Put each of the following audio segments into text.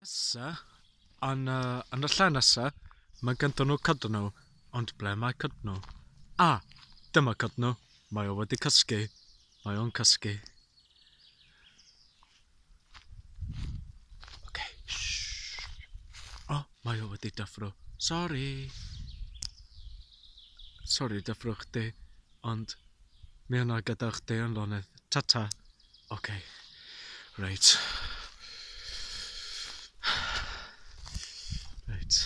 Nesa, yn, uh, yn y lle nesa, mae ganddyn nhw cydnw, ond ble mae cydnw? A, dyma cydnw, mae o wedi cysgu, mae o'n cysgu. Oce, shh. O, mae o wedi dyffro. Sori. Sori dyffro chdi, ond mi yna gyda chdi yn lonydd. Ta-ta. Oce. Reit. Reit.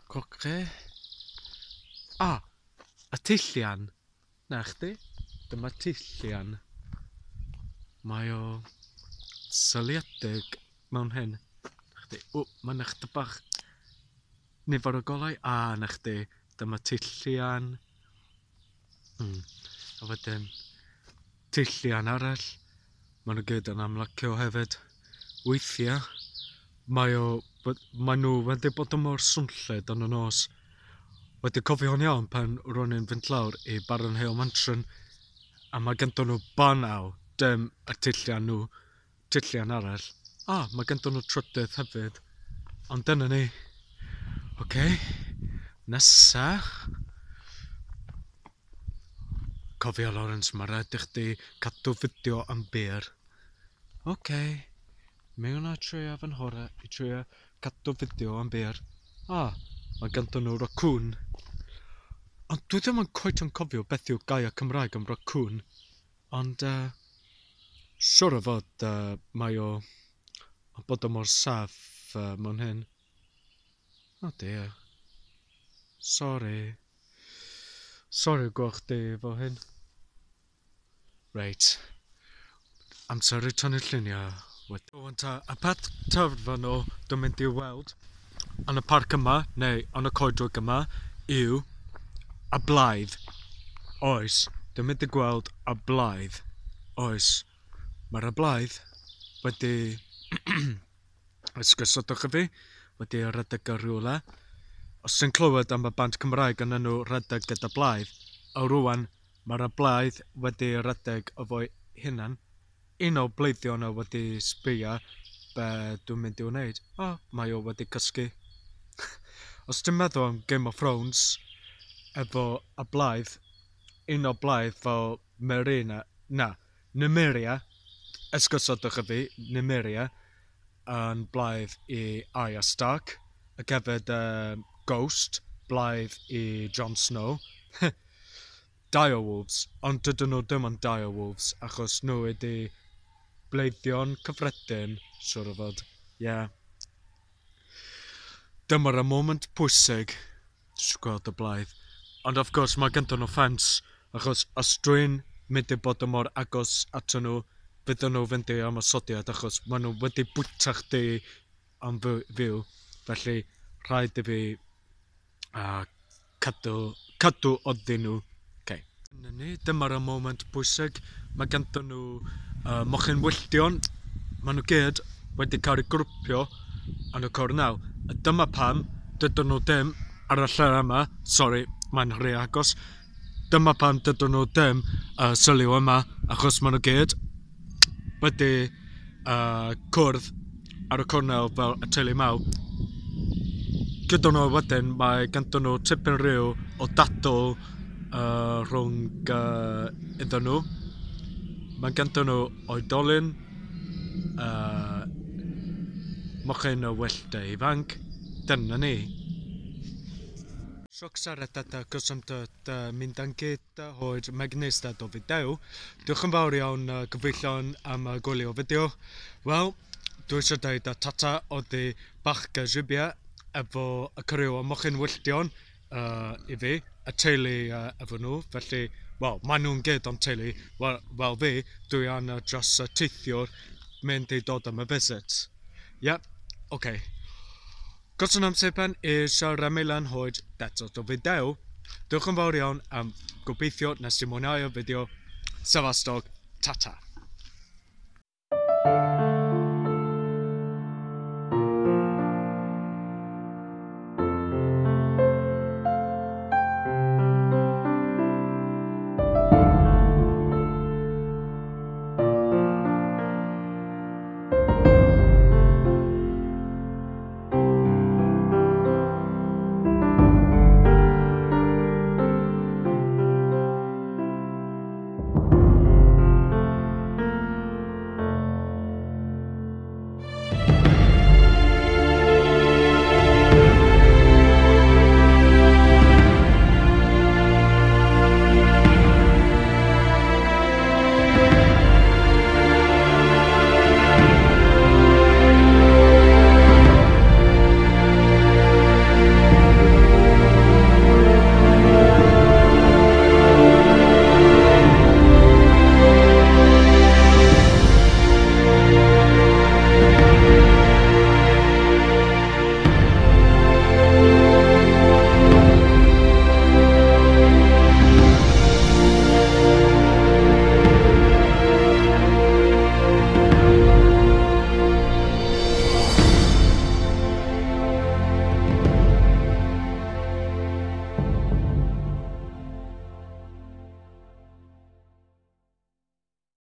Coche. Ah, y tyllian. Na chdi, dyma tyllian. Mae o syliedig mewn hyn. Na chdi, o, mae 'na chydig bach nifer o golau. A, na chdi, dyma tyllian. A wedyn tyllian arall. Maen nhw gyd yn amlycio hefyd. Weithiau, mae o, maen nhw wedi bod yn mor swnllyd yn y nos. Wedi cofio'n iawn pan ro'n i'n fynd lawr i Baron Hale Mansion a mae ganddyn nhw banel, dim y tyllian nhw, tyllian arall. A, mae ganddyn nhw trydydd hefyd. Ond dyna ni. Oce, okay. Nesa. Cofia Lawrence, mae rhaid i chdi cadw fideo am byr. Oce. Okay. Mi wna i trio fy nghorau i trio cadw fideo am byr. Ah, mae ganddyn nhw racŵn. Ond dwi ddim yn cweit yn cofio beth yw gair Cymraeg am racŵn. Ond, siŵr o fod mae o yn bod o mor saff mewn hyn. Oh dear. Sori. Sori gweld chdi efo hyn. Reit. Amser i tynnu lluniau wedyn. Rwan ta, y peth terfynol dwi'n mynd i weld yn y parc yma, neu yn y coedwig yma, yw y blaidd. Oes, dwi'n mynd i gweld y blaidd. Oes, mae'r y blaidd wedi esgusodwch i fi, wedi rhedeg o rhywle. Os ti'n clywed am y band Cymraeg yn enw Rhedeg gyda Blaidd, a rwan Mae'r blaidd wedi rhedeg efo'i hunan. Un o bleiddion o wedi sbio be dwi'n mynd i wneud. O, mae o wedi cysgu. Os ti'n meddwl am Game of Thrones, efo y blaidd, un o blaidd fel Marina, na, Nymeria, esgusodwch i fi, Nymeria, yn blaidd i Arya Stark, ac hefyd Ghost, blaidd i Jon Snow. Direwolves, ond dydyn nhw ddim yn direwolves achos nhw ydy bleiddion cyffredin, siŵr o fod. Ie. Yeah. Dyma'r y moment pwysig. Dwi eisiau gweld y blaidd. Ond of course mae ganddyn nhw ffens, achos os dwi'n mynd i bod yn mor agos ato nhw, fydden nhw fynd i ymosodiad achos maen nhw wedi bwyta chdi am fyw. Felly rhaid i fi a cadw, cadw oddyn nhw. Okay. Dyna ni, dyma'r moment bwysig. Mae ganddyn nhw mochyn wylltion. Maen nhw gyd wedi cael eu grwpio yn y cornel. A dyma pam dydyn nhw ddim ar y lle yma. Sori, mae'n rhy agos. Dyma pam dydyn nhw ddim sylw yma, achos maen nhw gyd wedi cwrdd ar y cornel fel y teulu mawr. Gyda nhw wedyn, mae ganddyn nhw tipyn rhyw o dadl rhwng iddyn nhw. Mae ganddyn nhw oedolyn, mochyn o wyllt ifanc. Dyna ni. Sioc siarad cysondod mynd yn gyd hoed Magnista do fideo. Diolch yn fawr iawn gyfeillion am gwylio fideo. Wel, dwi eisiau dweud a tata oddi Bachga Zhibia efo y criw o Mochyn Wylltion i fi, y teulu efo nhw, felly, wel, maen nhw'n gyd o'n teulu, wel, wel fi, dwi yn dros y teithiwr mynd i dod am y visit. Ie, yeah, oce. Okay. Goson amser pen i siarad Milan hoed eto do fideo. Diolch yn fawr iawn am gobeithio nes ti mwynhau y fideo. Sefastog, tata.